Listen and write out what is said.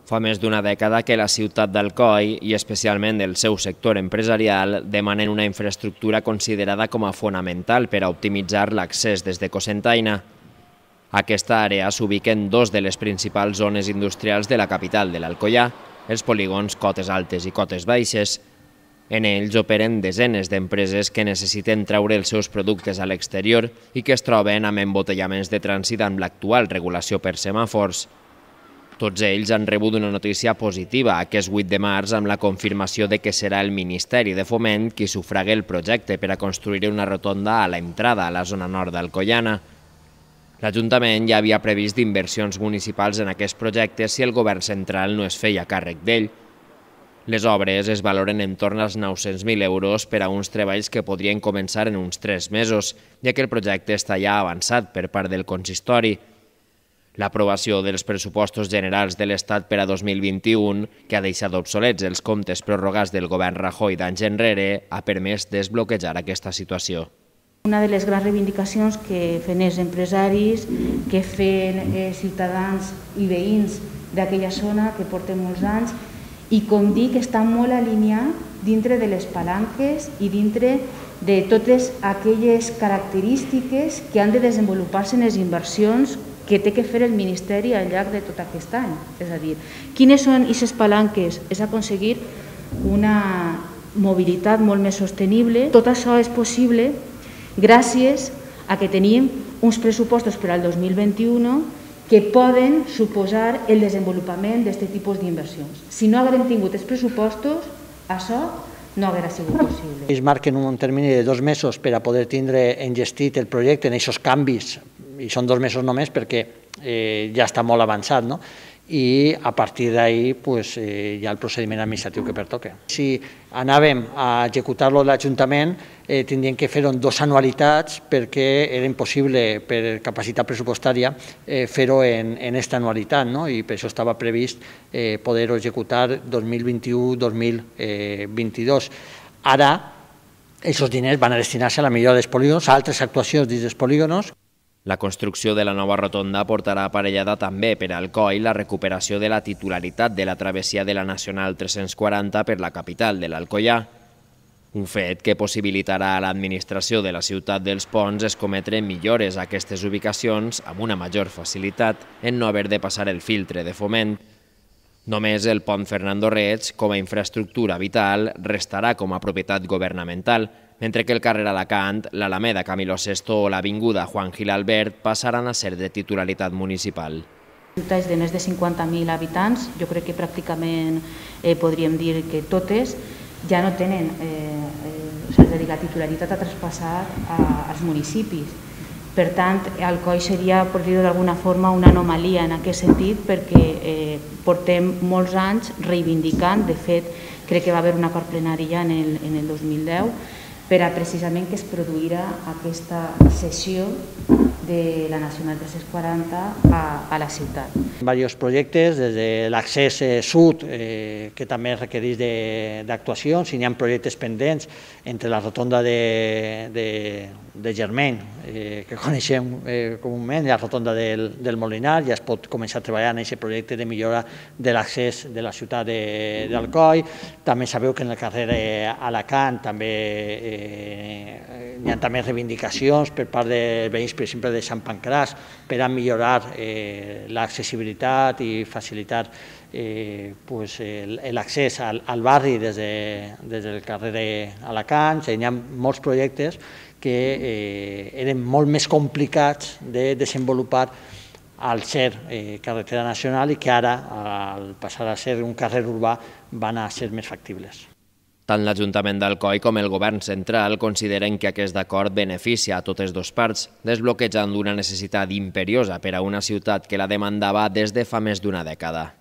Fa més d'una dècada que la ciutat d'Alcoi, i especialment el seu sector empresarial, demanen una infraestructura considerada com a fonamental per a optimitzar l'accés des de Cocentaina. A aquesta àrea s'ubiquen dos de les principals zones industrials de la capital de l'Alcoià, els polígons Cotes Altes i Cotes Baixes. En ells operen desenes d'empreses que necessiten treure els seus productes a l'exterior i que es troben amb embotellaments de trànsit amb l'actual regulació per semàfors. Tots ells han rebut una notícia positiva aquest 8 de març amb la confirmació de que serà el Ministeri de Foment qui sufraga el projecte per a construir una rotonda a l'entrada a la zona nord d'Alcoiana. L'Ajuntament ja havia previst inversions municipals en aquest projecte si el govern central no es feia càrrec d'ell. Les obres es valoren en torn als 900.000 euros per a uns treballs que podrien començar en uns 3 mesos, ja que el projecte està ja avançat per part del consistori. L'aprovació dels pressupostos generals de l'Estat per a 2021, que ha deixat obsolets els comptes prorrogats del govern Rajoy d'anys enrere, ha permès desbloquejar aquesta situació. Una de les grans reivindicacions que fan els empresaris, que fan ciutadans i veïns d'aquella zona que porten molts anys, i com dic, està molt alineat dintre de les palanques i dintre de totes aquelles característiques que han de desenvolupar-se en les inversions que té que fer el Ministeri al llarg de tot aquest any. És a dir, quines són aquestes palanques? És aconseguir una mobilitat molt més sostenible. Tot això és possible gràcies a que tenim uns pressupostos per al 2021 que poden suposar el desenvolupament d'aquest tipus d'inversions. Si no haguem tingut els pressupostos, això no hauria sigut possible. Es marquen un termini de 2 mesos per a poder tindre engestit el projecte en aquests canvis, i són 2 mesos només perquè ja està molt avançat, no? I a partir d'ahir hi ha el procediment administratiu que pertoca. Si anàvem a executar-lo a l'Ajuntament, tindríem que fer-ho en 2 anualitats perquè era impossible per capacitat pressupostària fer-ho en aquesta anualitat, i per això estava previst poder-ho executar 2021-2022. Ara, aquests diners van a destinar-se a la millora dels polígons, a altres actuacions dins dels polígons. La construcció de la nova rotonda portarà aparellada també per a Alcoi la recuperació de la titularitat de la travessia de la Nacional 340 per la capital de l'Alcoià. Un fet que possibilitarà a l'administració de la ciutat dels Ponts escometre millores a aquestes ubicacions amb una major facilitat en no haver de passar el filtre de Foment. Només el pont Fernando Reig, com a infraestructura vital, restarà com a propietat governamental, mentre que el carrer Alacant, l'Alameda Camilo VI o l'avinguda Juan Gil Albert passaran a ser de titularitat municipal. Ciutats de més de 50.000 habitants, jo crec que pràcticament podríem dir que totes ja no tenen la titularitat a traspassar als municipis. Per tant, Alcoi seria, per dir-ho d'alguna forma, una anomalia en aquest sentit perquè portem molts anys reivindicant, de fet, crec que va haver un acord plenari ja en el 2010, per a precisament que es produïra aquesta cessió de la Nacional 340 a la ciutat. Diversos projectes, des de l'accés sud, que també requereix d'actuacions, i hi ha projectes pendents entre la rotonda de Germain, que coneixem comúment, i la rotonda del Molinar. Ja es pot començar a treballar en aquest projecte de millora de l'accés de la ciutat d'Alcoi. També sabeu que en el carrer Alacant també hi ha també reivindicacions per part de veïns, per exemple, de Sant Pancràs, per a millorar l'accessibilitat i facilitar l'accés al barri des del carrer Alacant. Hi ha molts projectes que eren molt més complicats de desenvolupar al ser carretera nacional i que ara, al passar a ser un carrer urbà, van a ser més factibles. Tant l'Ajuntament d'Alcoi com el Govern central consideren que aquest acord beneficia a totes dues parts, desbloquejant una necessitat imperiosa per a una ciutat que la demandava des de fa més d'una dècada.